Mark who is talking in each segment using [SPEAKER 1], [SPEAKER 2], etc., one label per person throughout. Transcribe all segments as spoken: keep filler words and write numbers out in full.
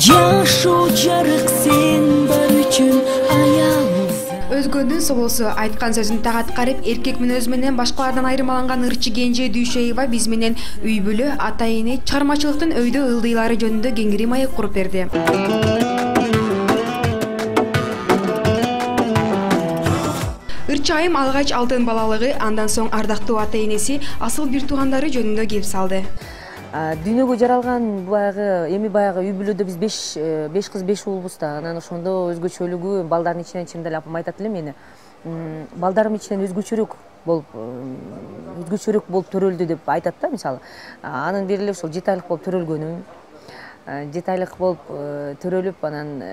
[SPEAKER 1] жашоо жарык сен бар үчүн аял.
[SPEAKER 2] Өзгөнүн собосу айткан сөзүн так аткарып, эркек мүнөзү менен башкалардан айырмаланган ырчы Кенже Дүйшөева биз менен үй бүлө, ата-эне, чыгармачылыктын өйдө ылдыйлары жөнүндө кеңири маек куруп берди. Ырчы айым алгач алтын балалыгы, андан соң ардактуу ата-энеси, асыл бир туугандары жөнүндө кеп салды.
[SPEAKER 3] Дүйнөгө жаралган баягы эми баягы үй бүлөдө биз беш беш кыз беш уулбуз да. Анан ошондо өзгөчөлүгү балдардын ичинен чындап эле апам айтат эле мени. Балдарым ичинен өзгөчөрөөк болуп өзгөчөрөөк болуп төрөлдү деп айтат да, мисалы. Анын бери эле ушул жети айлык болуп төрөлгөнүм. жети айлык болуп төрөлүп, анан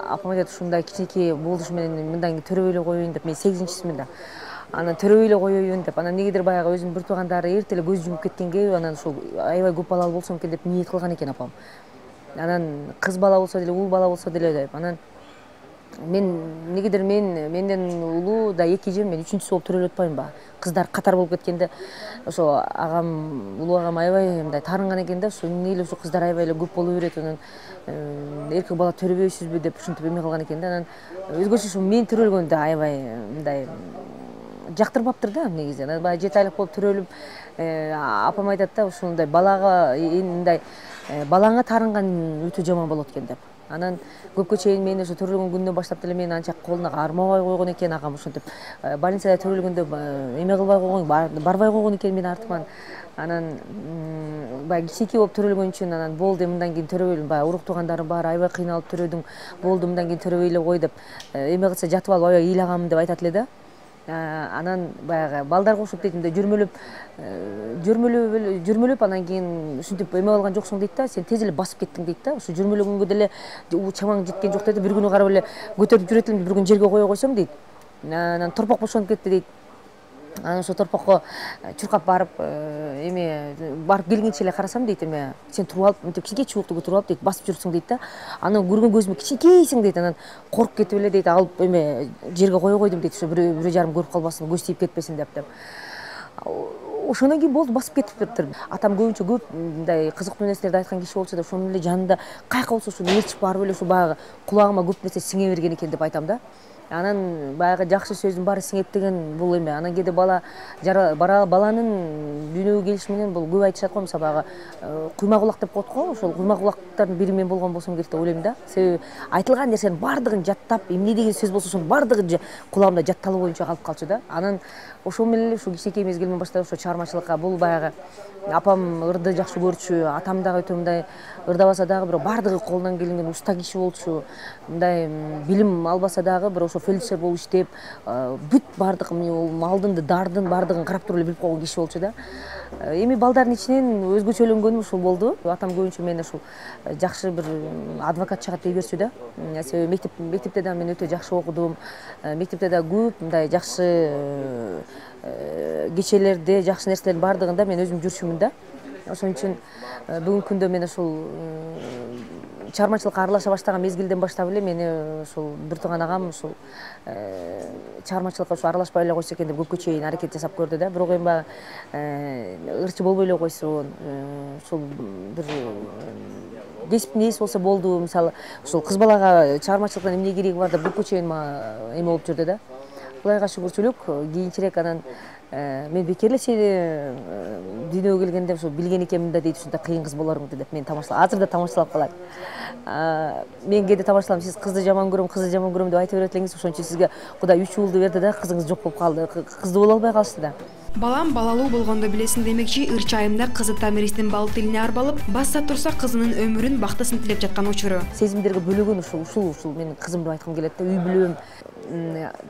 [SPEAKER 3] апам айтат ушундай кичинекей болушу менен мындан кийин төрөбөй эле коеюн деп. Мен сегизинчисимин да. Анан төрөбөй эле коеюн деп. Анан негедир баягы өзүнүн бир туугандары эрте эле көз жумуп кеткенге, анан ушул аябай көп балалуу болсом экен деп ниет кылган экен апам. Анан кыз бала болсо деле, уул бала болсо деле деп. Анан мен негедир мен менден улуу да эки эжем, мен үчүнчүсү болуп төрөлүп атпаймынбы? Кыздар катар болуп кеткенде, ошо агам, улуу агам аябай мындай таарынган экен да, ошо эмне эле ушул кыздар аябай эле көп боло берет, анан эркек бала төрөбөйсүзбү деп ушинтип эме кылган экен да. Анан өзгөчө ушул мен төрөлгөндө аябай мындай жактырбаптыр да негизи. Анан баягы жети айлык болуп төрөлүп, апам айтат да, ушундай балага мындай балаңа таарынган өтө жаман болот экен деп. Анан көпкө чейин мен ошо төрөлгөн күндөн баштап деле мени анча колуна кармабай койгон экен агам, ошентип больницада төрөлгөндө эме кылбай койгон, барбай койгон экен менин артыман. Анан баягы кичинекей болуп төрөлгөн үчүн анан болду, мындан кийин төрөбөйлү, баягы урук туугандарым бар, аябай кыйналып төрөдүң, болду, мындан кийин төрөбөй эле кой деп, эме кылса жатып алып аябай ыйлаганмын деп айтат эле да. Анан баягы балдарга окшоп дейт, мындай жүрмөлөп жүрмөлөп жүрмөлөп анан кийин ушинтип эме кылган жоксуң дейт да, сен тез эле басып кеттиң дейт да. Ошо жүрмөлөгөнгө деле чамаң жеткен жок дейт. Бир күнү карап эле көтөрүп жүрөт элем, бир күнү жерге кое койсом дейт. Анан торпок бошонуп кетти дейт. Анан ошо торпокко чуркап барып, эме барып келгенче эле карасам дейт, эме сен туруп алып, мынтип кичинекей чубукту көтөрүп алып дейт, басып жүрүпсүң дейт да. Анан көргөн көзүмө кичинекейсиң дейт. Анан коркуп кетип эле дейт, алып эме жерге кое койдум дейт, ошо бирөө бирөө жарым көрүп калбасын, көз тийип кетпесин деп деп. Ошондон кийин болду, басып кетиптир. Атам көбүнчө көп мындай кызыктуу нерселерди айткан киши болчу да, ошонун эле жанында каяка болсо ошону ээрчип барып эле ушу баягы кулагыма көп нерсе сиңе берген экен деп айтам да. Анан баягы жакшы сөздүн баары сиңет деген бул эме. Анан кээде бала баланын дүйнөгө келиши менен бул көп айтышат го, мисалы баягы куйма кулак деп коет го, ошол куйма кулактардын бири мен болгон болсом керек деп ойлойм да. Себеби айтылган нерсенин баардыгын жаттап, эмне деген сөз болсо ошонун баардыгы кулагымда жатталуу боюнча калып калчу да. Анан ошол менен эле ушул кичинекей мезгилимден баштап ошо чыгармачылыкка, бул баягы апам ырды жакшы көрчү, атам дагы өтө мындай ырдабаса дагы бирок баардыгы колунан келген уста киши болчу. Мындай билим албаса дагы бирок ошо фельдшер болуп иштеп, бүт баардык малдын, дардын баардыгын карап туруп эле билип койгон киши болчу да. Эми балдардын ичинен өзгөчөлөнгөнүм ушул болду. Атам көбүнчө мени ушул жакшы бир адвокат чыгат дей берчү да. Себеби мектеп мектепте да мен өтө жакшы окудум. Мектепте да көп мындай жакшы кечелерде, жакшы нерселердин баардыгында мен өзүм жүрчүмүн да. Ошон үчүн бүгүнкү күндө мен ушул чыгармачылыкка аралаша баштаган мезгилден баштап эле мени ушул бир тууган агам ушул чыгармачылыкка ушу аралашпай эле койсо экен деп көпкө чейин аракет жасап көрдү да. Бирок эми баягы ырчы болбой эле койсун, ушул бир кесиптин ээси болсо болду. Мисалы ушул кыз балага чыгармачылыктан эмне кереги бар деп көпкө чейин эме болуп жүрдү да. Кудайга шүгүрчүлүк, кийинчерээк анан мен бекер эле сени дүйнөгө келгенде ошо билген экенмин да дейт, ушундай кыйын кыз болоруңду деп мен тамашалап, азыр да тамашалап калат. Мен кээде тамашалам, сиз кызды жаман көрөм, кызды жаман көрөм деп айта берет элеңиз, ошон үчүн сизге Кудай үч уулду берди да, кызыңыз жок болуп калды, кызды боло албай калышты да.
[SPEAKER 2] Балам балалуу болгондо билесиң демекчи, ырчы айымда кызы Тамиристин бал тилине арбалып, басса турса кызынын өмүрүн, бактысын тилеп жаткан учуру.
[SPEAKER 3] Сезимдерге бөлөгөн ушул ушул ушул менин кызым деп айткым келет да, үй бүлөм.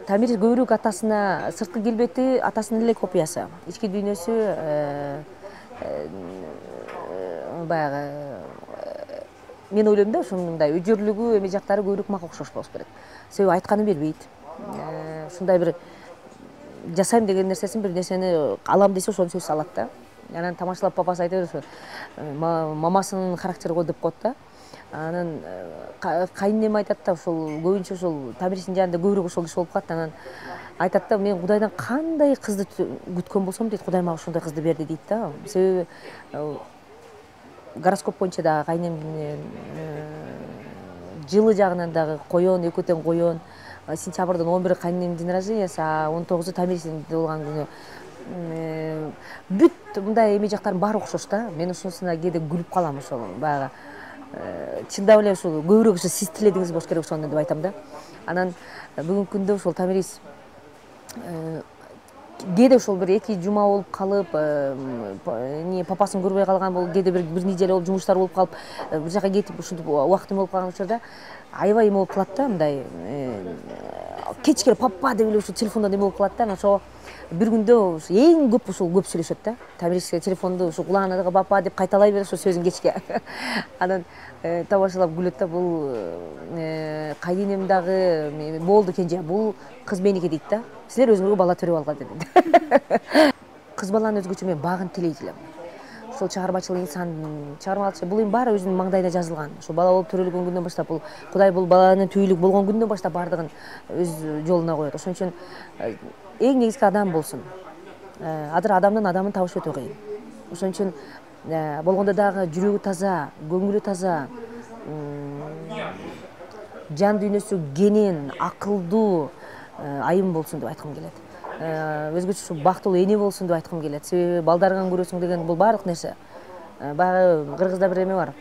[SPEAKER 3] Тамир көбүрөөк атасына, сырткы келбети атасынын эле копиясы. Ички дүйнөсү баягы мен ойлойм да, ушундай өжөрлүгү, эме жактары көбүрөөк мага окшош болуш керек. Себеби айтканын бербейт. Ушундай бир жасайм деген нерсесин, бир нерсени алам десе ошону сөз алат да. Анан тамашалап папасы айта берет, мамасынын характери го деп коет да. Анан кайненем айтат да, ушул көбүнчө ушул Тамириштин жанында көбүрөөк ошол киши болуп калат. Анан айтат да, мен Кудайдан кандай кызды күткөн болсом дейт, Кудай мага ушундай кызды берди дейт да. Себеби гороскоп боюнча дагы кайнем жылы жагынан дагы коен, экөө тең коен. Сентябрдын он бири кайнемдин день рождениясы, а он тогузу Тамирисин болгон күнү. Бүт мындай эме жактарын баары окшош да. Мен ошонусуна кээде күлүп калам ошол баягы. Чындап эле ушул көбүрөөк ушу сиз тиледиңиз болуш керек ошону деп айтам да. Анан бүгүнкү күндө ошол Тамирис кээде ошол бир эки жума болуп калып, эмне папасын көрбөй калган, бул кээде бир бир неделе болуп жумуштар болуп калып, бир жака кетип ушинтип убактым болуп калган учурда аябай эме болуп калат да, мындай кечке папа деп эле ушу телефондон эме болуп калат да. Анан ошо бир күндө эң көп ушул көп сүйлөшөт да. Тамириске телефонду ушу кулагына дагы папа деп кайталай берет ошо сөзүн кечке. Анан табашалап күлөт да, бул кайненем дагы болду кенже, бул кыз меники дейт да. Силер өзүңөргө бала төрөп алган дейт. Кыз баланы өзгөчө мен багын тилейт элем. Ошол чыгармачыл инсан, чыгармачыл бул эми баары өзүнүн маңдайына жазылган. Ошо бала болуп төрөлгөн күндөн баштап бул Кудай бул баланын түйүлүк болгон күндөн баштап баардыгын өз жолуна коет. Ошон үчүн эң негизги адам болсун. Азыр адамдын адамын табыш өтө кыйын. Ошон үчүн болгондо дагы жүрөгү таза, көңүлү таза, жан дүйнөсү кенен, акылдуу айым болсун деп айткым келет. Өзгөчө бактылуу эне болсун деп айткым келет. Себеби балдарыңан көрөсүң деген бул баардык нерсе. Баягы кыргызда бир эме бар.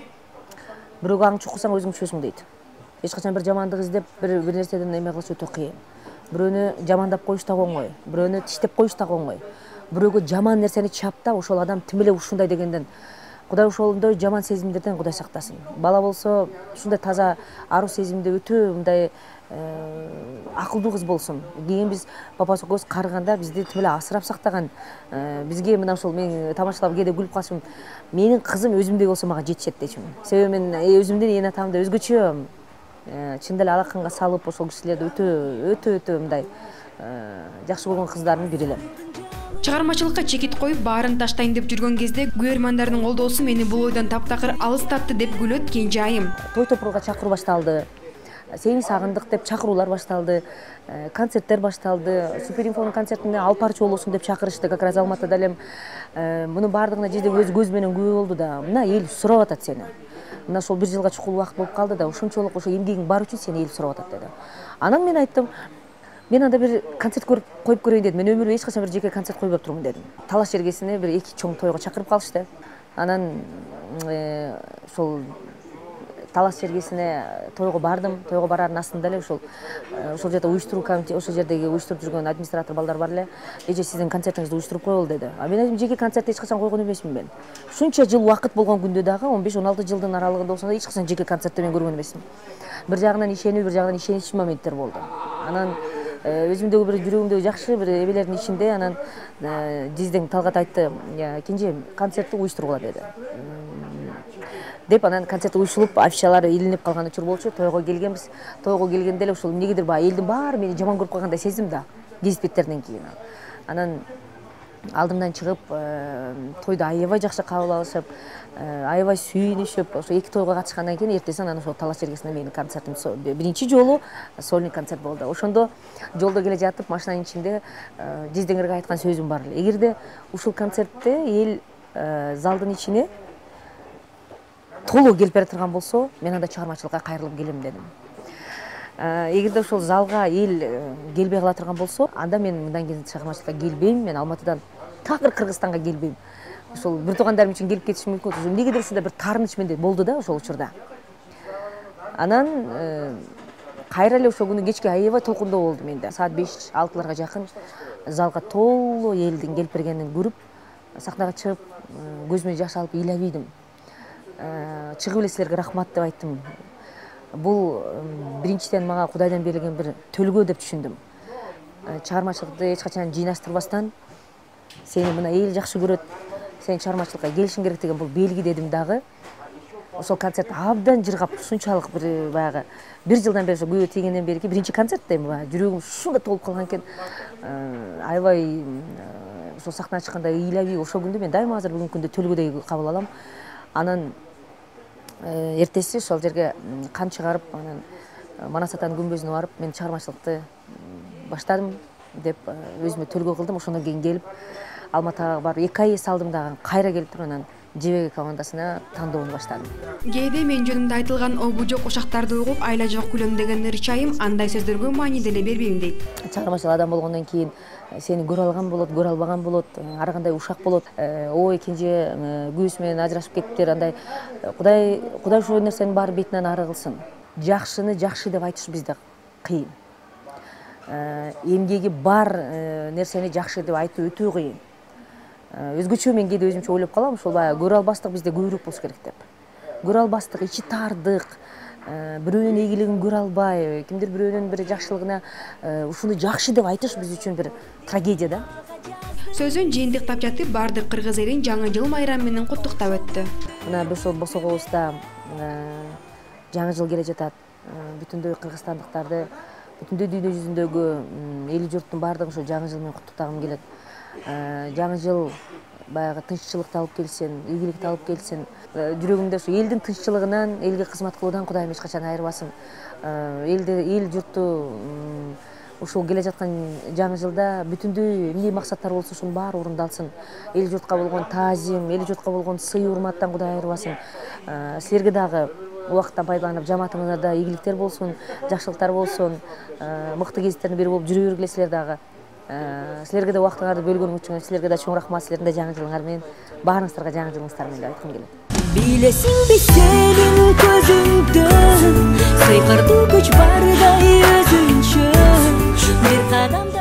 [SPEAKER 3] Бирөөгө аң чукусаң өзүң чөсүң дейт. Эч качан бир жамандык издеп бир бир нерседен эме кылыш өтө кыйын. Бирөөнү жамандап коюш да оңой, бирөөнү тиштеп коюш да оңой. Бирөөгө жаман нерсени чаптап, ошол адам тим эле ушундай дегенден Кудай ошондой жаман сезимдерден Кудай сактасын. Бала болсо ушундай таза аруу сезимде өтө мындай акылдуу кыз болсун. Кийин биз папасы карыганда бизди тим эле асырап сактаган. Бизге мына ушул мен тамашалап кээде күлүп калышым. Менин кызым өзүмдөй болсо мага жетишет дейчүмүн. Себеби мен өзүмдүн эне атамды өзгөчө чында эле алаканга салып, ошол кишилерди өтө өтө өтө мындай жакшы көргөн кыздардын бири элем.
[SPEAKER 2] Чыгармачылыкка чекит коюп, баарын таштайын деп жүргөн кезде көрөрмандардын колдоосу мени бул ойдон таптакыр алыстатты деп күлөт кенже айым.
[SPEAKER 3] Той топурга чакыруу башталды. Сени сагындык деп чакыруулар башталды. Концерттер башталды. Суперинфонун концертине алып барчу болосуң деп чакырышты. Как раз Алматыда элем мунун баардыгына жеде өз көз менен күбө болду да. Мына эл сурап атат сени. Мына ошол бир жылга чукул убакыт болуп калды да, ошончолук ошо эмгегиң бар үчүн сени эл сурап атат деди. Анан мен айттым, мен анда бир концерт көрүп коюп көрөйүн дедим. Мен өмүрүмдө эч качан бир жеке концерт койбоп турмун дедим. Талаш жергесине бир эки чоң тойго чакырып калышты. Анан ошол Талас жергесине тойго бардым. Тойго бараардын астында эле ошол ошол жерде уюштуруу комитет, ошол жердеги уюштуруп жүргөн администратор балдар бар эле. Эже сиздин концертиңизди уюштуруп коелу деди. А мен айттым, жеке концертти эч качан койгон эмесмин мен. Ушунча жыл убакыт болгон күндө дагы он беш он алты жылдын аралыгында болсо да эч качан жеке концертти мен көргөн эмесмин. Бир жагынан ишенүү, бир жагынан ишеничсиз моменттер болду. Анан өзүмдөгү бир жүрөгүмдөгү жакшы бир эбелердин ичинде анан Диздең Талгат айтты, кенже концертти уюштургула деди. Деп анан концерт уюштурулуп, афишалары илинип калган учур болчу. Тойго келгенбиз. Тойго келгенде эле ушул эмнегедир баягы элдин баары мени жаман көрүп калгандай сездим да, гезит беттеринен кийин. Анан алдымдан чыгып, тойду аябай жакшы кабыл алышып, аябай сүйүнүшүп, ошо эки тойго катышкандан кийин эртесин анан ошол Талаш жергесинде менин концертим биринчи жолу сольный концерт болду. Ошондо жолдо келе жатып машинанын ичинде Диздеңерге айткан сөзүм бар эле. Эгерде ушул концертте эл залдын ичине толук келип бара турган болсо, мен анда чыгармачылыкка кайрылып келем дедим. Эгерде ошол залга эл келбей кала турган болсо, анда мен мындан кийин чыгармачылыкка келбейм, мен Алматыдан такыр Кыргызстанга келбейм. Ошол бир туугандарым үчүн келип кетишим мүмкүн. Эмнегедир ушундай бир таарыныч менде болду да ошол учурда. Анан кайра эле ошол күнү кечке аябай толкундоо болду менде. Саат беш алтыларга жакын залга толуу элдин келип бергенин көрүп, сахнага чыгып, көзүмө жаш алып ыйлабыйдым. Чыгып эле силерге рахмат деп айттым. Бул биринчиден мага Кудайдан берилген бир төлгөө деп түшүндүм. Чыгармачылыкты эч качан жыйнаштырбастан сени мына эл жакшы көрөт, сен чыгармачылыкка келишиң керек деген бул белги дедим дагы. Ошол концерт абдан жыргап, ушунчалык бир баягы бир жылдан бери күбө тийгенден берки биринчи концерт да эми баягы жүрөгүм ушундай толуп калган экен. Аябай ошол сахнага чыкканда ыйлабый, ошол күндү мен дайыма азыр бүгүнкү күндө төлгөдөй кабыл алам. Анан эртеси ошол жерге кан чыгарып, анан Манас атанын күмбөзүнө барып, мен чыгармачылыкты баштадым деп өзүмө төлгөө кылдым. Ошондон кийин келип Алматыга барып эки ай эс алдым дагы, кайра келип туруп анан жебеге командасына тандоону баштадым.
[SPEAKER 2] Кээде мен жөнүмдө айтылган обу жок ошактарды угуп айла жок күлөм деген ырчы айым андай сөздөргө маани деле бербейм дейт.
[SPEAKER 3] Чыгармачыл адам болгондон кийин сени көрө алган болот, көрө албаган болот, ар кандай ушак болот. Ой кенже күйөөсү менен ажырашып кетиптир, андай Кудай Кудай ошол нерсенин баары бетинен ары кылсын. Жакшыны жакшы деп айтыш бизде кыйын. Эмгеги бар нерсени жакшы деп айтуу өтө кыйын. Өзгөчө мен кээде өзүмчө ойлоп калам, ушул баягы көрө албастык бизде көбүрөөк болуш керек деп. Көрө албастык, ичи таардык, бирөөнүн ийгилигин көрө албай, кимдир бирөөнүн бир жакшылыгына ушуну жакшы деп айтыш биз үчүн бир трагедия да.
[SPEAKER 2] Сөзүн жыйынтыктап жатып, бардык кыргыз элин жаңы жыл майрамы менен куттуктап өттү.
[SPEAKER 3] Мына Босогобузда жаңы жыл келе жатат. Бүтүндөй кыргызстандыктарды, бүтүндөй дүйнө жүзүндөгү эл журттун баардыгын ошо жаңы жыл менен куттуктагым келет. Жаңы жыл баягы тынччылыкты алып келсин, ийгиликти алып келсин. Жүрөгүмдө ушу элдин тынччылыгынан, элге кызмат кылуудан Кудайым эч качан айырбасын. Элди, эл журтту ушул келе жаткан жаңы жылда бүтүндөй эмне максаттар болсо ошонун баары орундалсын. Эл журтка болгон таазим, эл журтка болгон сый урматтан Кудай айырбасын. Силерге дагы убакыттан пайдаланып жамаатыңызда да ийгиликтер болсун, жакшылыктар болсун, мыкты кездердин бири болуп жүрө бергиле силер дагы. Силерге да убактыңарды бөлгөнүң үчүн силерге да чоң рахмат, силердин да жаңы жылыңар менен, баарыңыздарга жаңы жылыңыздар менен деп айткым келет.
[SPEAKER 1] Билесиңби сенин көзүңдө сыйкырдуу күч бардай өзүнчө бир кадам